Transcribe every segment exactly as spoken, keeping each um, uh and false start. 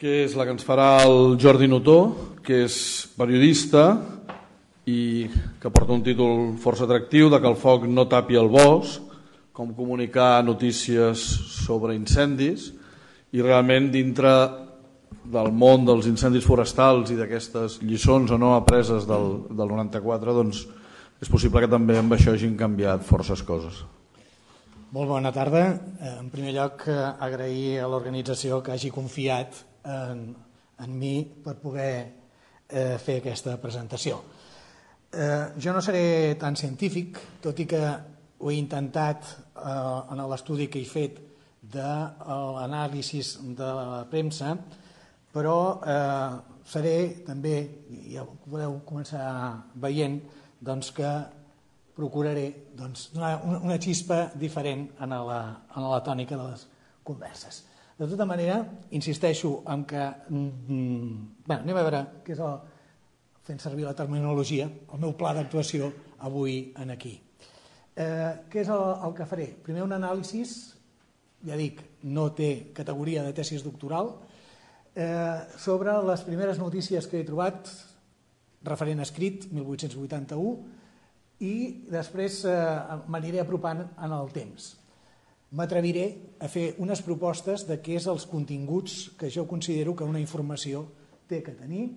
que és la que ens farà el Jordi Notó, que és periodista i que porta un títol força atractiu de que el foc no tapi el bosc, com comunicar notícies sobre incendis, i realment dintre del món dels incendis forestals i d'aquestes lliçons o no apreses del, del noranta-quatre, doncs és possible que també amb això hagin canviat forces coses. Molt bona tarda. En primer lloc, agrair a l'organització que hagi confiat en, en mi per poder eh, fer aquesta presentació. Eh, jo no seré tan científic, tot i que ho he intentat eh, en l'estudi que he fet de l'anàlisi de la premsa, però eh, seré també, ja ho podeu començar veient, doncs que procuraré doncs, donar una xispa diferent en la, en la tònica de les converses. De tota manera, insisteixo en que... Mm, bé, anem a veure què és el, fent servir la terminologia, el meu pla d'actuació avui en aquí. Eh, què és el, el que faré? Primer un anàlisi, ja dic, no té categoria de tesis doctoral, eh, sobre les primeres notícies que he trobat, referent escrit, mil vuit-cents vuitanta-u, i després eh, m'aniré apropant en el temps. M'atreviré a fer unes propostes de què és els continguts que jo considero que una informació té que tenir.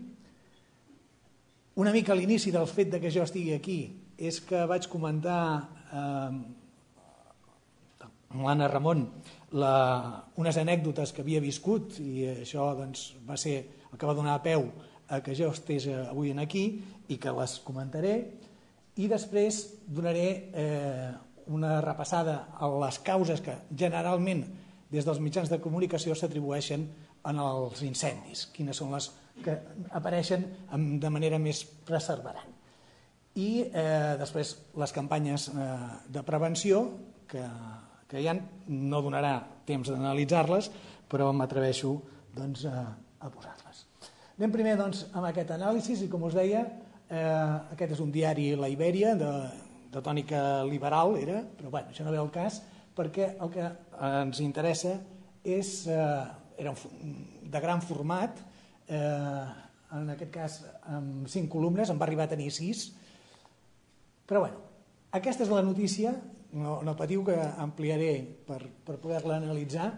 Una mica a l'inici del fet de que jo estigui aquí és que vaig comentar eh, amb l'Anna Ramon la, unes anècdotes que havia viscut i això doncs, va ser el que va donar peu a que jo estés avui aquí i que les comentaré. I després donaré eh, una repassada a les causes que generalment des dels mitjans de comunicació s'atribueixen en els incendis, quines són les que apareixen de manera més perseverant. I eh, després les campanyes eh, de prevenció, que, que ja no donarà temps d'analitzar-les, però m'atreveixo doncs, a, a posar-les. Anem primer doncs, amb aquest anàlisi i, com us deia, Eh, aquest és un diari La Ibèria de, de tònica liberal era, però bueno, això no ve al cas perquè el que ens interessa és eh, era un, de gran format, eh, en aquest cas amb cinc columnes, en va arribar a tenir sis, però bueno, aquesta és la notícia, no, no patiu que ampliaré per, per poder-la analitzar,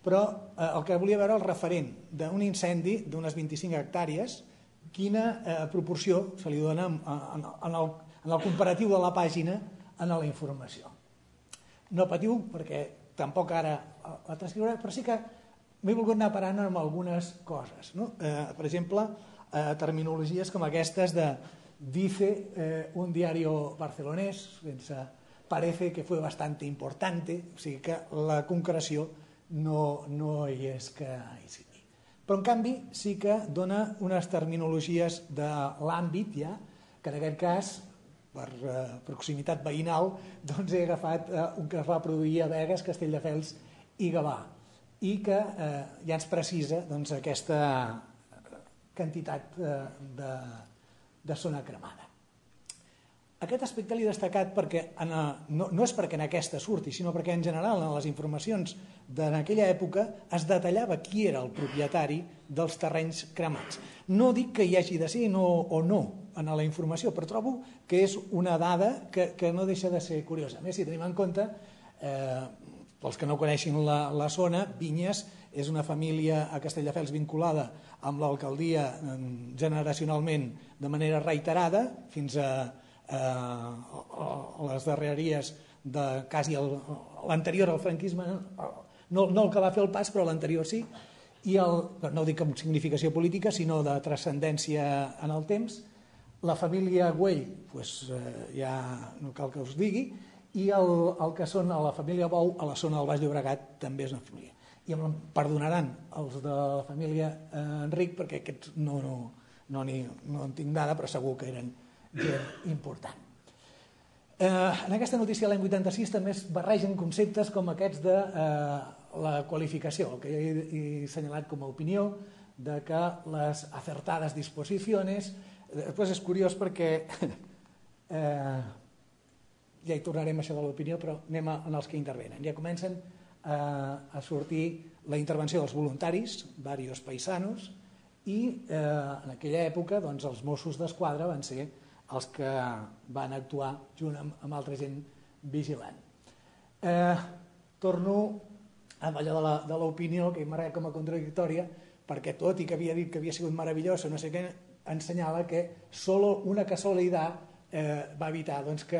però eh, el que volia veure el referent d'un incendi d'unes vint-i-cinc hectàrees, quina eh, proporció se li dona en, en, en, el, en el comparatiu de la pàgina en la informació. No patiu, perquè tampoc ara la transcriuré, però sí que m'he volgut anar parant amb algunes coses. No? Eh, per exemple, eh, terminologies com aquestes de dice eh, un diario barcelonès, sense parece que fue bastante importante, o sigui que la concreció no, no hi és que hi sigui. Però, en canvi, sí que dona unes terminologies de l'àmbit, ja, que en aquest cas, per eh, proximitat veïnal, doncs he agafat eh, un que es va produir a Begues, Castelldefels i Gavà, i que eh, ja ens precisa doncs, aquesta quantitat eh, de, de zona cremada. Aquest aspecte l'he destacat perquè, en, no, no és perquè en aquesta surti, sinó perquè en general en les informacions d'en aquella època es detallava qui era el propietari dels terrenys cremats. No dic que hi hagi de ser no, o no en la informació, però trobo que és una dada que, que no deixa de ser curiosa. A més, si tenim en compte, eh, pels que no coneixin la, la zona, Vinyes és una família a Castelldefels vinculada amb l'alcaldia eh, generacionalment de manera reiterada, fins a a les darreries de quasi l'anterior al franquisme, no, no el que va fer el pas, però l'anterior sí, i el, no ho dic amb significació política, sinó de transcendència en el temps. La família Güell, doncs, ja no cal que us digui, i el, el que són a la família Bou, a la zona del Baix Llobregat, també és una família. I em perdonaran els de la família Enric, perquè aquests no, no, no, ni, no en tinc dada, però segur que eren gent important. Eh, en aquesta notícia de l'any vuitanta-sis també es barregen conceptes com aquests de eh, la qualificació, el que he, he assenyalat com a opinió, de que les acertades disposicions, després és curiós perquè eh, ja hi tornarem a això de l'opinió, però anem a, en els que intervenen. Ja comencen a sortir la intervenció dels voluntaris, diversos paisanos, i en aquella època els Mossos d'Esquadra van ser els que van actuar junt amb altra gent vigilant. Torno amb allò de l'opinió, que m'agrada com a contradictòria, perquè tot i que havia dit que havia sigut meravellosa, no sé què, ensenyava que solo una casualitat va evitar que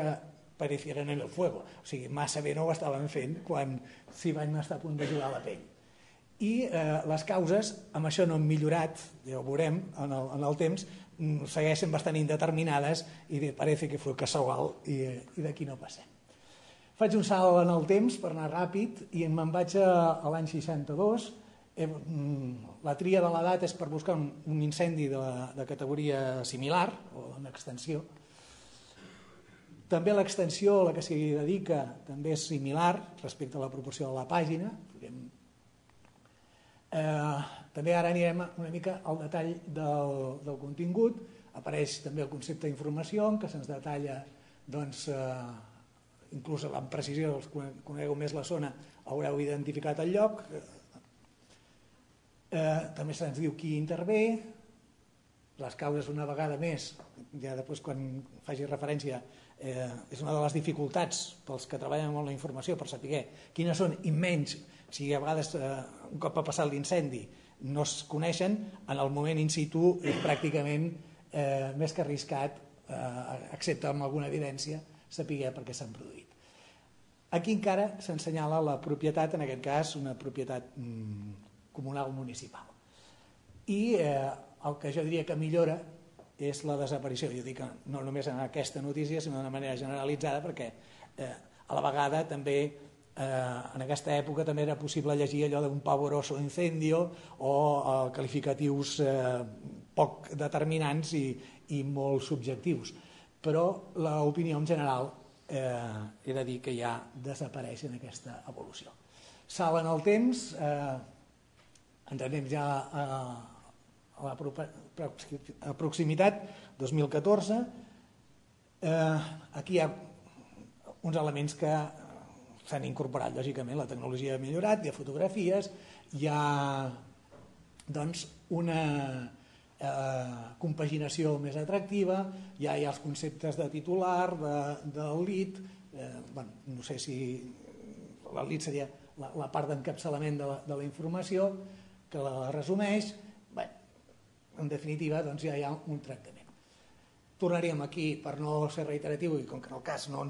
aparecieran en el fuego. O sigui, massa bé no ho estaven fent quan s'hi van estar a punt de jugar la pell. I les causes, amb això no han millorat, ja ho veurem en el temps, segueixen bastant indeterminades i parece que fue casual i d'aquí no passem. Faig un salt en el temps per anar ràpid i me'n vaig a l'any seixanta-dos. La tria de l'edat és per buscar un incendi de categoria similar o en extensió. També l'extensió a la que s'hi dedica també és similar respecte a la proporció de la pàgina. També ara anirem una mica al detall del contingut. Apareix també el concepte d'informació, en què se'ns detalla, inclús amb precisió, els que conegueu més la zona haureu identificat el lloc. També se'ns diu qui intervé, les causes una vegada més, ja després quan faci referència, és una de les dificultats pels que treballen amb la informació per saber quines són i menys, si a vegades un cop ha passat l'incendi no es coneixen, en el moment in situ és pràcticament més que arriscat, excepte amb alguna evidència, saber per què s'han produït. Aquí encara s'ensenyala la propietat, en aquest cas una propietat comunal municipal. I el que jo diria que millora és la desaparició. Jo dic no només en aquesta notícia, sinó d'una manera generalitzada, perquè a la vegada també en aquesta època també era possible llegir allò d'un pavoroso incendio o qualificatius poc determinants i molt subjectius. Però l'opinió en general he de dir que ja desapareix en aquesta evolució. Salt en el temps, ens anem ja a la proximitat, dos mil catorze. Aquí hi ha uns elements que s'han incorporat, lògicament, la tecnologia ha millorat, hi ha fotografies, hi ha una compaginació més atractiva, ja hi ha els conceptes de titular, del lead, no sé si el lead seria la part d'encapçalament de la informació, que la resumeix. En definitiva, ja hi ha un tractament. Tornaríem aquí, per no ser reiteratiu, i com que en el cas no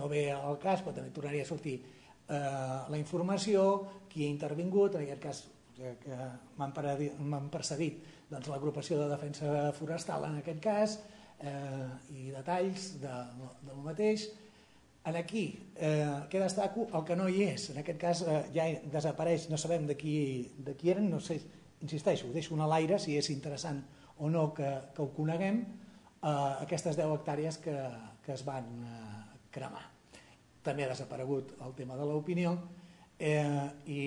ve al cas, però també tornaria a sortir la informació, qui ha intervingut, en aquest cas que m'han precedit, l'agrupació de defensa forestal en aquest cas, i detalls del mateix. Aquí, què destaco? El que no hi és, en aquest cas ja desapareix, no sabem de qui eren, no sé, insisteixo, ho deixo a l'aire si és interessant o no que ho coneguem, aquestes deu hectàrees que es van cremar. També ha desaparegut el tema de l'opinió i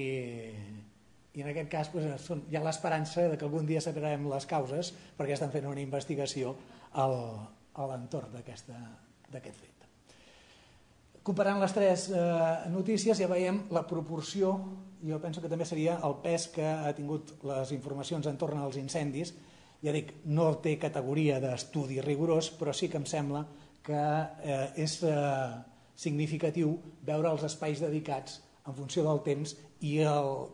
en aquest cas hi ha l'esperança que algun dia sabrem les causes perquè estan fent una investigació a l'entorn d'aquest fet. Comparant les tres notícies ja veiem la proporció, jo penso que també seria el pes que ha tingut les informacions entorn als incendis. Ja dic, no té categoria d'estudi rigorós, però sí que em sembla que és significatiu veure els espais dedicats en funció del temps i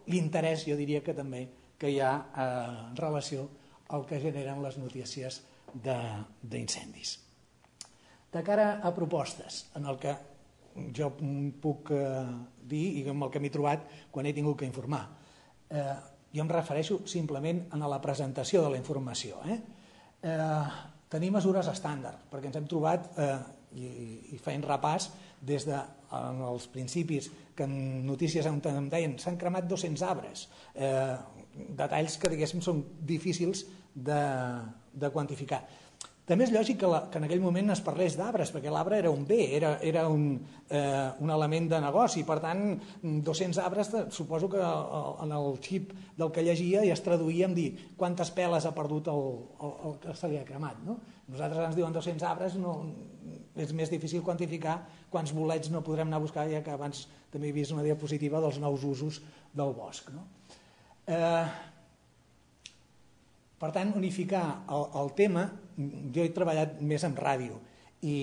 l'interès, jo diria que també, que hi ha en relació al que generen les notícies d'incendis. De cara a propostes, en el que jo puc dir i amb el que m'he trobat quan he tingut que informar. Jo em refereixo simplement a la presentació de la informació. Tenir mesures estàndard, perquè ens hem trobat, i feien repàs, des dels principis que en notícies em deien s'han cremat dos-cents arbres, detalls que diguéssim són difícils de quantificar. També és lògic que en aquell moment es parlés d'arbres, perquè l'arbre era un bé, era un element de negoci. Per tant, dos-cents arbres, suposo que en el xip del que llegia ja es traduïa en dir quantes peles ha perdut el que se li ha cremat. Nosaltres ens diuen dos-cents arbres, és més difícil quantificar quants bolets no podrem anar a buscar, ja que abans també he vist una diapositiva dels nous usos del bosc. No? Eh, per tant, unificar el, el tema, jo he treballat més en ràdio i,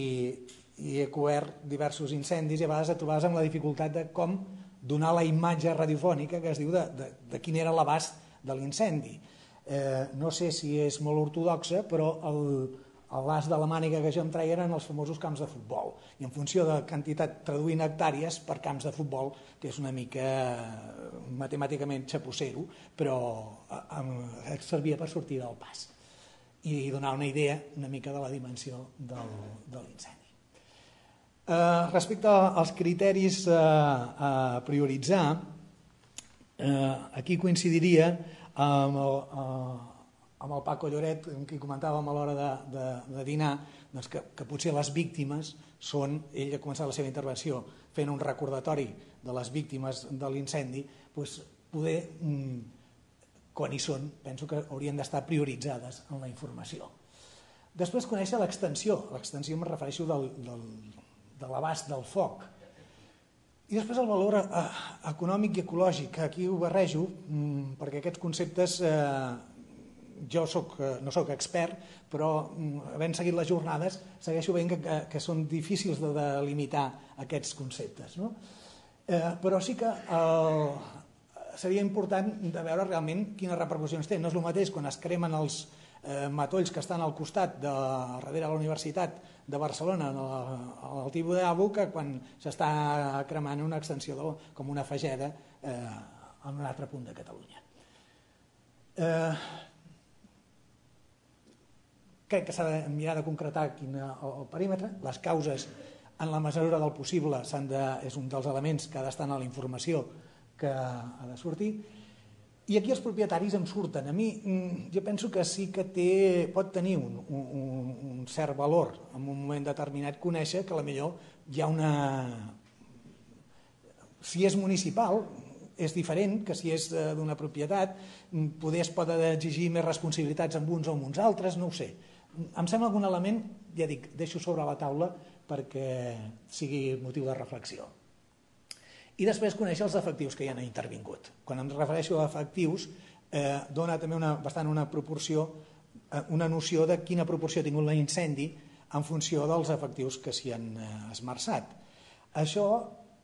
i he cobert diversos incendis i a vegades et trobaves amb la dificultat de com donar la imatge radiofònica que es diu de, de, de quin era l'abast de l'incendi. Eh, no sé si és molt ortodoxa, però el, el l'as de la màniga que jo em treia eren els famosos camps de futbol. I en funció de quantitat, traduint hectàrees per camps de futbol, que és una mica matemàticament xapussero, però eh, servia per sortir del pas i donar una idea una mica de la dimensió del, de l'incendi. Eh, respecte als criteris eh, a prioritzar, eh, aquí coincidiria amb el, eh, amb el Paco Lloret, amb qui comentàvem a l'hora de, de, de dinar, doncs que, que potser les víctimes són, ell ha començat la seva intervenció fent un recordatori de les víctimes de l'incendi, doncs poder, quan hi són, penso que haurien d'estar prioritzades en la informació. Després conèixer l'extensió, l'extensió em refereixo del, del, de l'abast del foc. I després el valor eh, econòmic i ecològic, que aquí ho barrejo, mmm, perquè aquests conceptes, eh, jo soc, eh, no soc expert, però mm, havent seguit les jornades, segueixo veient que, que, que són difícils de delimitar aquests conceptes. No? Eh, però sí que el, seria important de veure realment quines repercussions té. No és el mateix quan es cremen els eh, matolls que estan al costat, de, darrere de la Universitat de Barcelona, al Tibidabo, que quan s'està cremant una extensió de, com una fageda eh, en un altre punt de Catalunya. Eh, crec que s'ha de mirar de concretar quin el, el perímetre, les causes en la mesura del possible s'han de, és un dels elements que ha d'estar en la informació que ha de sortir. I aquí els propietaris em surten. A mi, jo penso que sí que té, pot tenir un, un, un cert valor en un moment determinat conèixer que potser hi ha una... Si és municipal, és diferent que si és d'una propietat, poder es pot exigir més responsabilitats amb uns o amb uns altres, no ho sé. Em sembla algun element, ja dic, deixo sobre la taula perquè sigui motiu de reflexió. I després conèixer els efectius que hi han intervingut. Quan em refereixo a efectius, eh, dona també una, bastant una proporció, eh, una noció de quina proporció ha tingut l'incendi en funció dels efectius que s'hi han eh, esmerçat. Això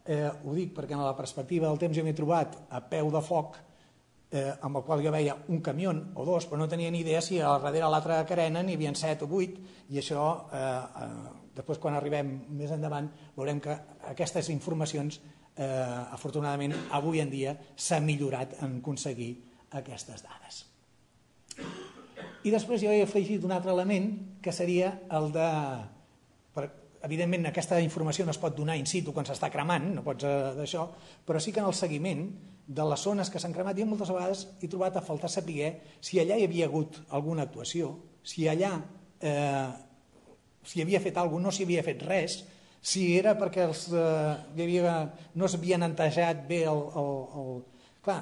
eh, ho dic perquè en la perspectiva del temps jo m'he trobat a peu de foc, eh, amb el qual jo veia un camió o dos, però no tenia ni idea si al darrere l'altra carena n'hi havia set o vuit, i això, eh, eh, després quan arribem més endavant, veurem que aquestes informacions Eh, afortunadament avui en dia s'ha millorat en aconseguir aquestes dades. I després jo he afegit un altre element que seria el de, per, evidentment aquesta informació no es pot donar in situ quan s'està cremant, no pots eh, d'això, però sí que en el seguiment de les zones que s'han cremat jo moltes vegades he trobat a faltar saber si allà hi havia hagut alguna actuació, si allà eh, si havia fet alguna cosa, no s'hi havia fet res, si era perquè els, eh, hi havia, no s'havia netejat bé el... el, el... Clar,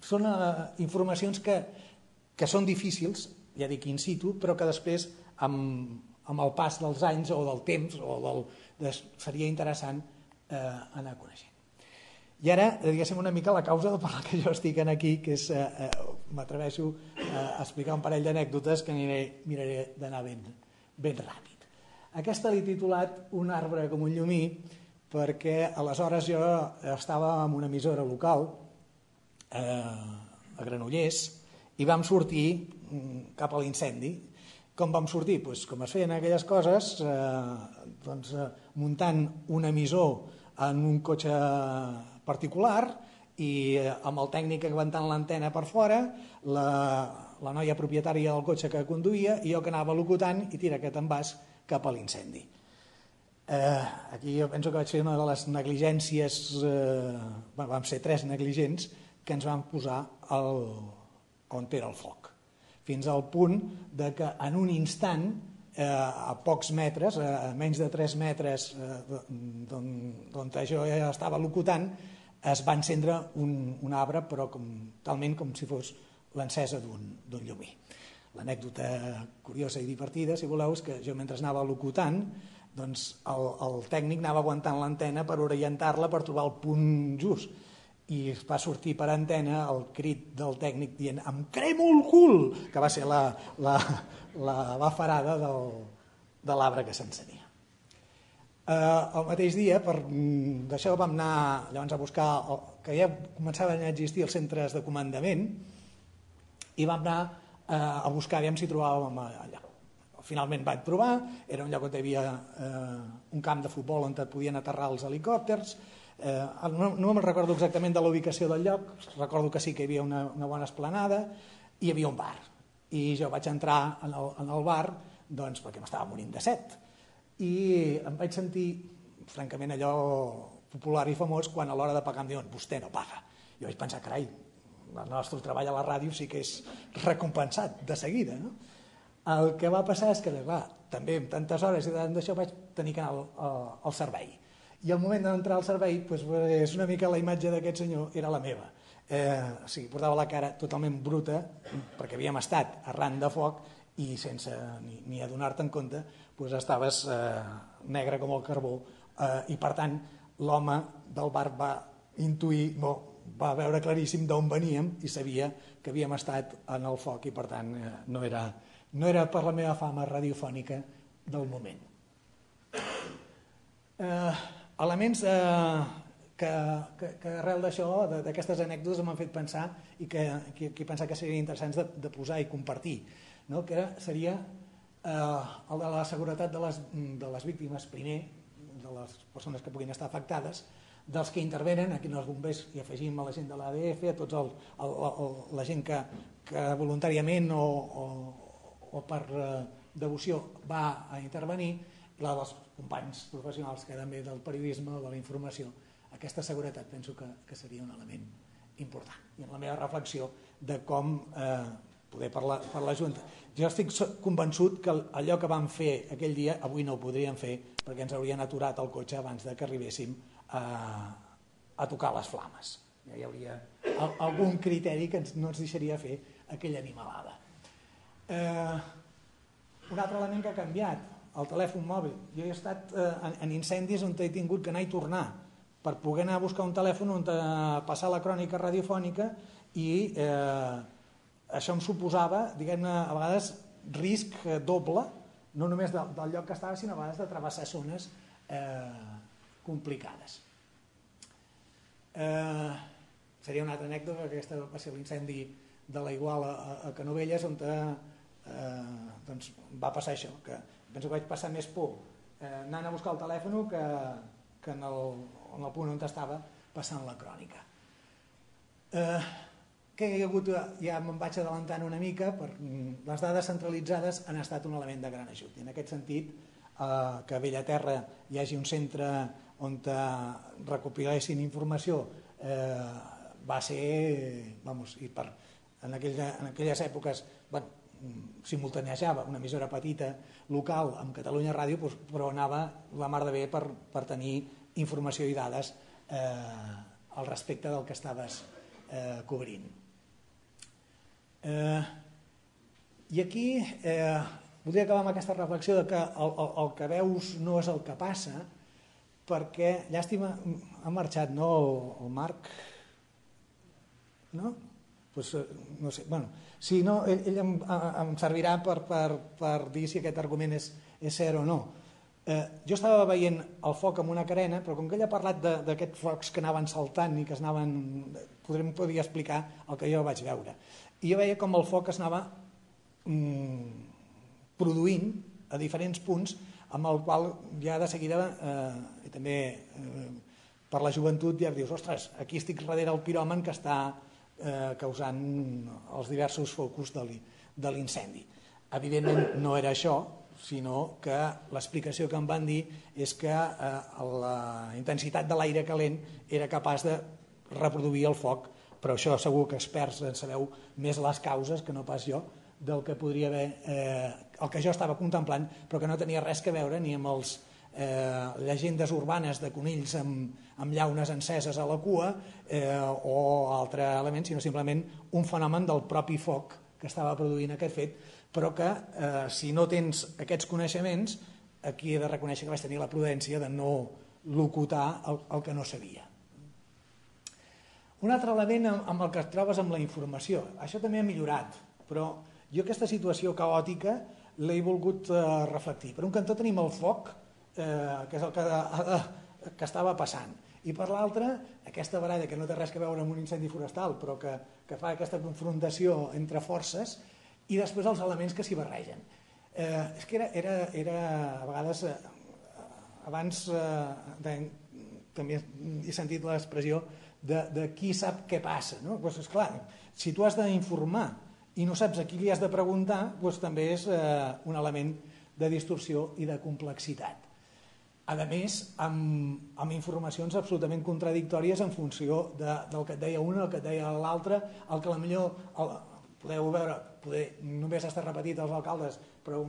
són eh, informacions que, que són difícils, ja dic in situ, però que després, amb, amb el pas dels anys o del temps, o del, de, seria interessant eh, anar coneixent. I ara, diguéssim una mica la causa per la que jo estic aquí, que és, eh, m'atreveixo a explicar un parell d'anècdotes que aniré, miraré d'anar ben, ben ràpid. Aquesta l'he titulat Un arbre com un llumí perquè aleshores jo estava en una emissora local eh, a Granollers i vam sortir cap a l'incendi. Com vam sortir? Pues, com es feien aquelles coses, eh, doncs, eh, muntant un emissor en un cotxe particular i eh, amb el tècnic aguantant l'antena per fora, la, la noia propietària del cotxe que conduïa i jo que anava locutant i tira aquest envàs cap a l'incendi. Eh, aquí jo penso que vaig fer una de les negligències, eh, vam ser tres negligents que ens vam posar al, on era el foc. Fins al punt de que en un instant, eh, a pocs metres, a menys de tres metres eh, d'on jo ja estava locutant, es va encendre un, un arbre, però com, talment com si fos l'encesa d'un llumí. L'anècdota curiosa i divertida, si voleu, és que jo mentre anava locutant doncs el, el tècnic anava aguantant l'antena per orientar-la, per trobar el punt just, i va sortir per antena el crit del tècnic dient "em cremo el cul", que va ser la, la, la bafarada del, de l'arbre que s'encenia. Eh, el mateix dia, per d'això vam anar llavors a buscar, el, que ja començaven a existir els centres de comandament, i vam anar eh, a buscar, aviam si trobàvem allà. Finalment vaig trobar, era un lloc on hi havia eh, un camp de futbol on et podien aterrar els helicòpters, eh, no, no me'n recordo exactament de la ubicació del lloc, recordo que sí que hi havia una, una bona esplanada i hi havia un bar. I jo vaig entrar en el, en el bar doncs, perquè m'estava morint de set. I em vaig sentir, francament, allò popular i famós quan a l'hora de pagar em diuen "vostè no paga". Jo vaig pensar, carai, el nostre treball a la ràdio sí que és recompensat de seguida, no? El que va passar és que, clar, també amb tantes hores i tant d'això vaig tenir que anar al, al servei. I al moment d'entrar al servei, doncs, és una mica la imatge d'aquest senyor, era la meva. Eh, o sigui, portava la cara totalment bruta, perquè havíem estat arran de foc i sense ni, ni adonar-te en compte, doncs estaves eh, negre com el carbó, eh, i per tant l'home del bar va intuir, no, va veure claríssim d'on veníem i sabia que havíem estat en el foc i per tant eh, no era... no era per la meva fama radiofònica del moment. Eh, elements eh, que, que, que arrel d'això, d'aquestes anècdotes, m'han fet pensar i que, que, que he pensat que serien interessants de, de posar i compartir, no? Que era, seria eh, el de la seguretat de les, de les víctimes, primer, de les persones que puguin estar afectades, dels que intervenen, aquí els bombers hi afegim a la gent de l'A D F, a tots el, el, el, la gent que, que voluntàriament o, o o per eh, devoció va a intervenir, i la dels companys professionals que també del periodisme o de la informació. Aquesta seguretat penso que, que seria un element important. I en la meva reflexió de com eh, poder parlar per la Junta. Jo estic convençut que allò que vam fer aquell dia avui no ho podríem fer perquè ens haurien aturat el cotxe abans de que arribéssim a, a tocar les flames. Ja hi hauria algun criteri que no ens deixaria fer aquella animalada. Eh, un altre element que ha canviat, el telèfon mòbil. Jo he estat eh, en, en incendis on he tingut que anar i tornar per poder anar a buscar un telèfon on passar la crònica radiofònica i eh, això em suposava, diguem-ne, a vegades risc doble, no només del, del lloc que estava, sinó a vegades de travessar zones eh, complicades. Eh, seria una altra anècdota, que aquesta va ser l'incendi de la Iguala a, a Canovelles, on eh, doncs va passar això, que penso que vaig passar més por eh, anant a buscar el telèfon que, que en, el, en el punt on estava passant la crònica. Eh, que hi ha hagut, ja me'n vaig adelantant una mica, per, les dades centralitzades han estat un element de gran ajut, i en aquest sentit eh, que a Bellaterra hi hagi un centre on recopilessin informació eh, va ser, vamos, i per En, aquella, en aquelles èpoques bueno, simultanejava una emissora petita local amb Catalunya Ràdio, doncs, però anava la mar de bé per, per tenir informació i dades eh, al respecte del que estaves eh, cobrint. Eh, I aquí eh, voldria acabar amb aquesta reflexió de que el, el, el que veus no és el que passa, perquè, llàstima, ha marxat, no, el, el Marc? No? Pues, no sé, bueno, si no, ell, ell em, em servirà per, per, per dir si aquest argument és, és cert o no. Eh, jo estava veient el foc amb una carena, però com que ell ha parlat d'aquests focs que anaven saltant i que es anaven, podrem poder explicar el que jo vaig veure. I jo veia com el foc es anava mm, produint a diferents punts, amb el qual ja de seguida, eh, i també eh, per la joventut, ja dius, ostres, aquí estic darrere el piròman que està Eh, causant els diversos focus de l'incendi. Evidentment no era això, sinó que l'explicació que em van dir és que eh, la intensitat de l'aire calent era capaç de reproduir el foc, però això segur que experts en sabeu més les causes que no pas jo del que podria haver, eh, el que jo estava contemplant, però que no tenia res que veure ni amb els Eh, llegendes urbanes de conills amb, amb llaunes enceses a la cua eh, o altre element, sinó simplement un fenomen del propi foc que estava produint aquest fet, però que eh, si no tens aquests coneixements aquí he de reconèixer que vaig tenir la prudència de no locutar el, el que no sabia. Un altre element amb el que et trobes amb la informació. Això també ha millorat, però jo aquesta situació caòtica l'he volgut eh, reflectir. Per un cantó tenim el foc, eh, que és el que, eh, que estava passant, i per l'altre aquesta baralla que no té res a veure amb un incendi forestal, però que, que fa aquesta confrontació entre forces, i després els elements que s'hi barregen. Eh, és que era, era, era a vegades, eh, abans eh, de, també he sentit l'expressió de, de qui sap què passa, no? Pues, esclar, si tu has d'informar i no saps a qui li has de preguntar, doncs també és eh, un element de distorsió i de complexitat. A més, amb, amb informacions absolutament contradictòries en funció de, del que et deia un, el que et deia l'altre, el que potser el, podeu veure, poder, només està repetit els alcaldes, però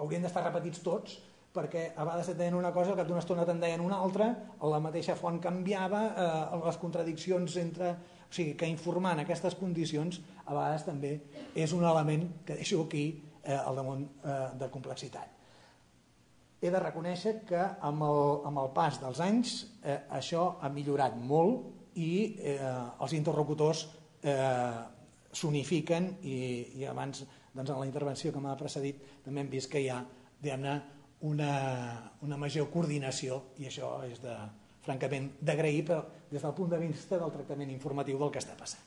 haurien d'estar repetits tots, perquè a vegades et deien una cosa, al cap d'una estona te'n deien una altra, la mateixa font canviava, eh, les contradiccions entre... O sigui, que informar en aquestes condicions a vegades també és un element que deixo aquí eh, al damunt eh, de complexitat. He de reconèixer que amb el, amb el pas dels anys eh, això ha millorat molt i eh, els interlocutors eh, s'unifiquen i, i abans doncs, en la intervenció que m'ha precedit també hem vist que hi ha diguem-ne una, una major coordinació i això és de, francament d'agrair però des del punt de vista del tractament informatiu del que està passant.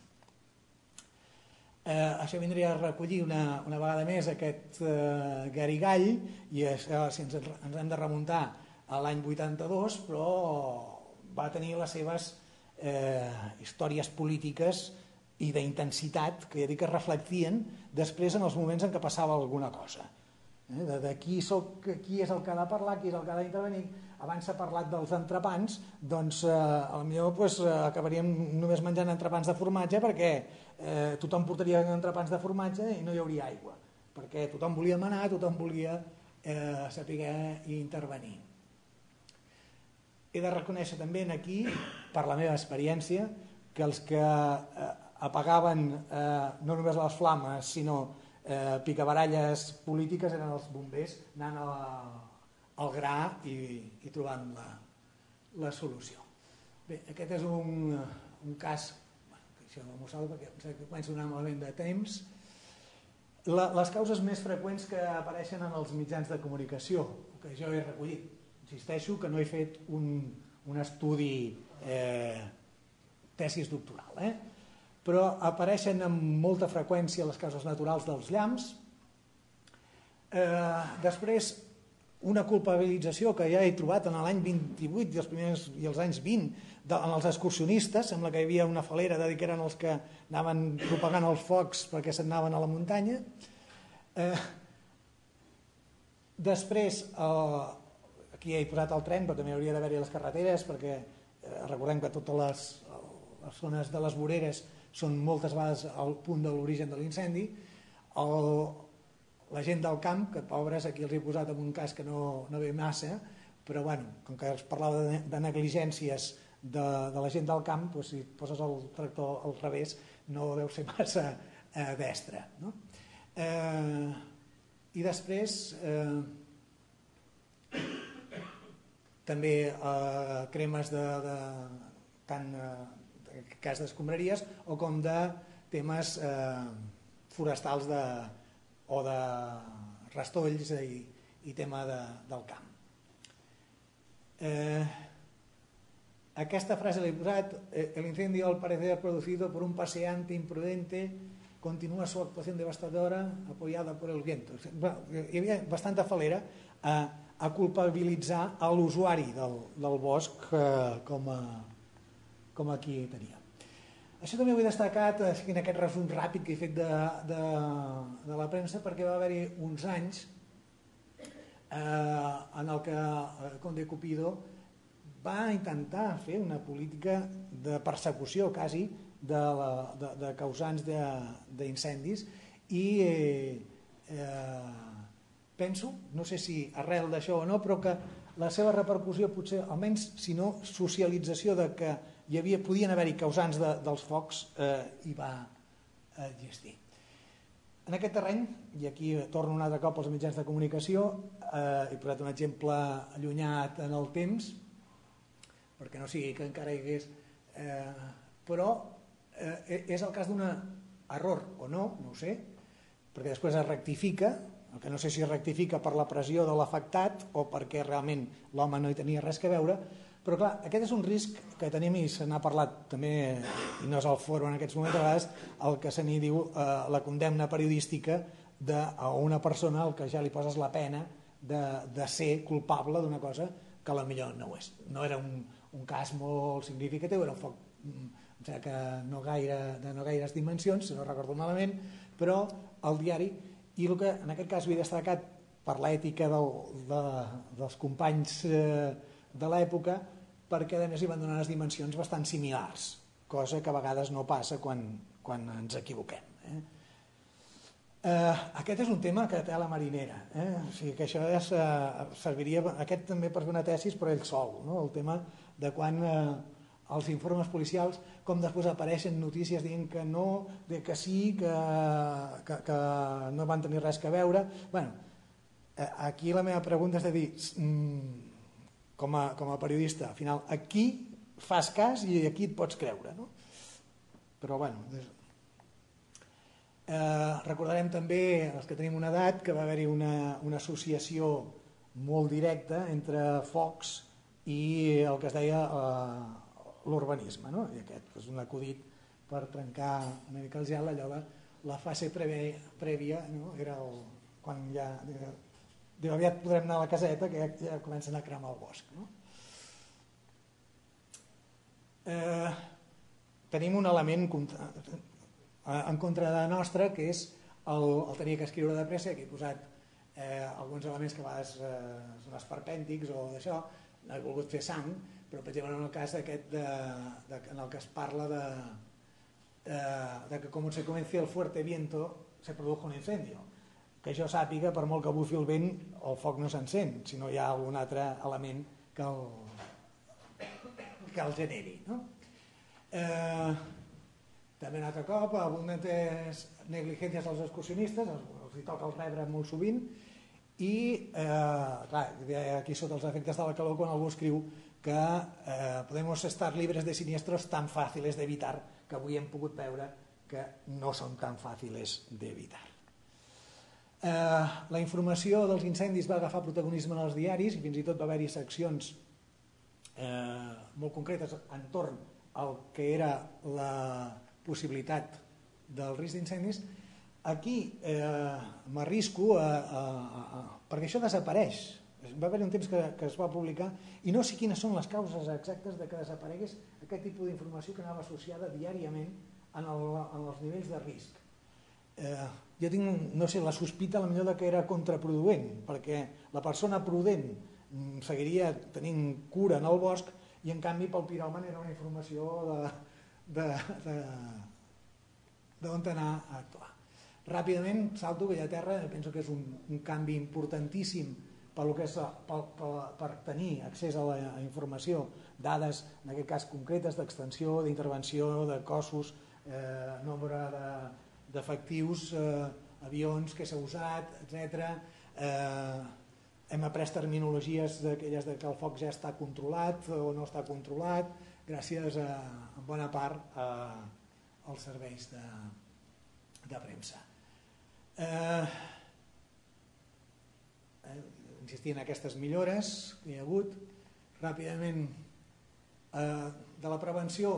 Eh, això vindria a recollir una, una vegada més aquest eh, garigall i això, si ens, ens hem de remuntar a l'any vuitanta-dos, però va tenir les seves eh, històries polítiques i d'intensitat que ja dic que es reflectien després en els moments en què passava alguna cosa. Eh, de, de qui, soc, qui és el que ha de parlar, qui és el que ha d'intervenir. Abans s'ha parlat dels entrepans, doncs eh, potser pues, acabaríem només menjant entrepans de formatge perquè eh, tothom portaria entrepans de formatge i no hi hauria aigua, perquè tothom volia manar, tothom volia eh, saber intervenir. He de reconèixer també aquí, per la meva experiència, que els que eh, apagaven eh, no només les flames, sinó eh, picabaralles polítiques eren els bombers, anant a la, al gra i, i trobant la, la solució. Bé, aquest és un, un cas, bueno, això m'ho salvo perquè comença a donar malament de temps. La, les causes més freqüents que apareixen en els mitjans de comunicació, que jo he recollit. Insisteixo que no he fet un, un estudi eh, tesis doctoral, eh? Però apareixen amb molta freqüència les causes naturals dels llamps. Eh, després, una culpabilització que ja he trobat en l'any vint-i-vuit i els primers i els anys vint de, en els excursionistes, sembla que hi havia una falera de dir que eren els que anaven propagant els focs perquè se'n anaven a la muntanya. Eh, després, eh, aquí he posat el tren, però també hauria d'haver-hi les carreteres, perquè eh, recordem que totes les, les zones de les voreres són moltes vegades al punt de l'origen de l'incendi. El, la gent del camp, que pobres aquí els he posat en un cas que no, no ve massa, però bueno, com que es parlava de, de negligències de, de la gent del camp, doncs si poses el tractor al revés no deu ser massa eh, destre, no? Eh, I després... Eh, també eh, cremes de, de tant eh, cas d'escombraries o com de temes eh, forestals de, o de rastolls i, i tema de, del camp. Eh, aquesta frase l'he posat: el incendio al parecer producido por un paseante imprudente continúa su actuación devastadora apoyada por el viento. Bueno, hi havia bastanta falera a eh, a culpabilitzar a l'usuari del, del bosc eh, com, a, com aquí tenia. Això també ho he destacat en aquest resum ràpid que he fet de, de, de la premsa, perquè va haver-hi uns anys eh, en el que el Conde Cupido va intentar fer una política de persecució quasi de, la, de, de causants d'incendis i eh, eh, penso, no sé si arrel d'això o no, però que la seva repercussió potser, almenys si no socialització de que hi havia, podien haver-hi causants de, dels focs, eh, hi va existir. En aquest terreny, i aquí torno un altre cop als mitjans de comunicació, he posat un exemple allunyat en el temps, perquè no sigui que encara hi hagués... Però és el cas d'un error o no, no ho sé, perquè després es rectifica, el que no sé si es rectifica per la pressió de l'afectat o perquè realment l'home no hi tenia res que veure, però clar, aquest és un risc que tenim i se n'ha parlat també, i no és el foro en aquests moments, a vegades el que se n'hi diu eh, la condemna periodística d'una persona al que ja li poses la pena de, de ser culpable d'una cosa que potser no ho és. No era un, un cas molt significatiu, era un foc em sembla que no gaire, de no gaires dimensions, si no recordo malament, però el diari, i el que en aquest cas havia destacat per l'ètica del, de, dels companys eh, de l'època, perquè a més hi van donar unes dimensions bastant similars, cosa que a vegades no passa quan, quan ens equivoquem. Eh? Eh, aquest és un tema que té a la marinera, eh? O sigui que això és, eh, serviria aquest també per fer una tesis per ell sol, no? El tema de quan eh, els informes policials, com després apareixen notícies dient que no, de que sí, que, que, que no van tenir res que veure. Bueno, eh, aquí la meva pregunta és de dir, mm, com a, com a periodista, al final, aquí fas cas i aquí et pots creure, no? Però, bueno, eh, recordarem també, els que tenim una edat, que va haver-hi una, una associació molt directa entre Fox i el que es deia eh, l'urbanisme, no? I aquest és un acudit per trencar una mica el gel, allò de la fase prèvia, prèvia no? Era el, quan ja... Diu, aviat podrem anar a la caseta que ja, ja comencen a cremar el bosc, no? Eh, tenim un element en contra de nostra que és el, el tenir que escriure de pressa. Aquí he posat eh, alguns elements que a vegades eh, són esperpèntics o d'això, he volgut fer sang, però per exemple en el cas aquest de, de, en el que es parla de, de, de que com se comenci el fuerte viento se produjo un incendio, que jo sàpiga, per molt que bufi el vent, el foc no s'encén, si no hi ha algun altre element que el, que el generi, no? Eh, també un altre cop, abundantes negligències dels excursionistes, els, els hi toca el rebre molt sovint, i eh, clar, aquí sota els efectes de la calor, quan algú escriu que eh, podemos estar libres de siniestros tan fàcils d'evitar, que avui hem pogut veure que no són tan fàcils d'evitar. Eh, la informació dels incendis va agafar protagonisme en els diaris i fins i tot va haver-hi seccions eh, molt concretes entorn al que era la possibilitat del risc d'incendis. Aquí eh, m'arrisco a, a, a, a, perquè això desapareix. Va haver un temps que, que es va publicar i no sé quines són les causes exactes de que desaparegués aquest tipus d'informació que anava associada diàriament en, el, en els nivells de risc. Eh, jo tinc, no sé, la sospita a la millor de que era contraproduent, perquè la persona prudent seguiria tenint cura en el bosc i en canvi pel piròman era una informació de d'on anar a actuar. Ràpidament salto que a terra, penso que és un, un canvi importantíssim per, que és, per, per, per tenir accés a la informació, dades en aquest cas concretes d'extensió, d'intervenció, de cossos, eh, nombre de d'efectius, eh, avions que s'ha usat, etcètera. Eh, hem après terminologies d'aquelles de que el foc ja està controlat o no està controlat, gràcies a, en bona part a, als serveis de, de premsa. Eh, eh, insistir en aquestes millores que hi ha hagut. Ràpidament, eh, de la prevenció,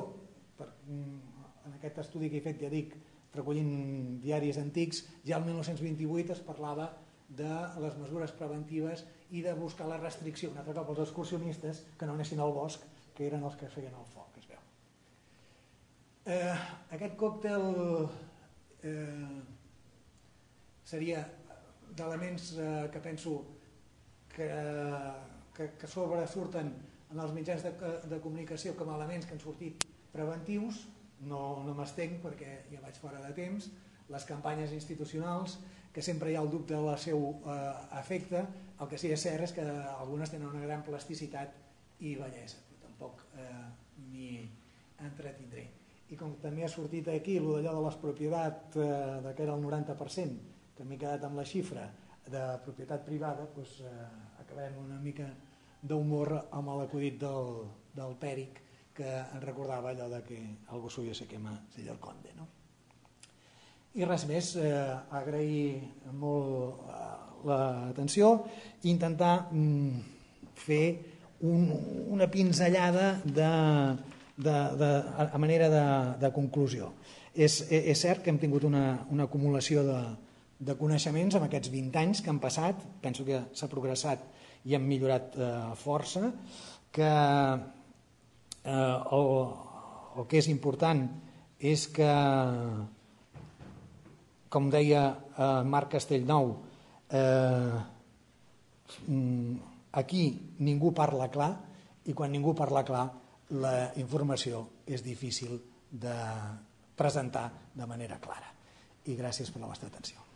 per, en aquest estudi que he fet, ja dic, recollint diaris antics, ja el mil nou-cents vint-i-vuit es parlava de les mesures preventives i de buscar la restricció, un altre cop els excursionistes que no anessin al bosc, que eren els que feien el foc, es veu. Eh, aquest còctel eh, seria d'elements eh, que penso que, que, que sobresurten en els mitjans de, de comunicació com a elements que han sortit preventius. No, no m'estenc perquè ja vaig fora de temps. Les campanyes institucionals, que sempre hi ha el dubte del seu eh, efecte, el que sí que és cert és que algunes tenen una gran plasticitat i bellesa, però tampoc eh, m'hi entretindré. i com també ha sortit aquí allò de les propietats, eh, que era el noranta per cent, que m'he quedat amb la xifra de propietat privada, doncs, eh, acabem una mica d'humor amb l'acudit del, del Pèric, que ens recordava allò de que algo suyo se quema sella el conde, no? I res més, eh, agrair molt eh, l'atenció i intentar mm, fer un, una pinzellada de, de, de, a manera de, de conclusió. És, és cert que hem tingut una, una acumulació de, de coneixements en aquests vint anys que han passat, penso que s'ha progressat i hem millorat eh, força, que eh, el, el que és important és que, com deia eh, Marc Castellnou, eh, aquí ningú parla clar, i quan ningú parla clar la informació és difícil de presentar de manera clara. I gràcies per la vostra atenció.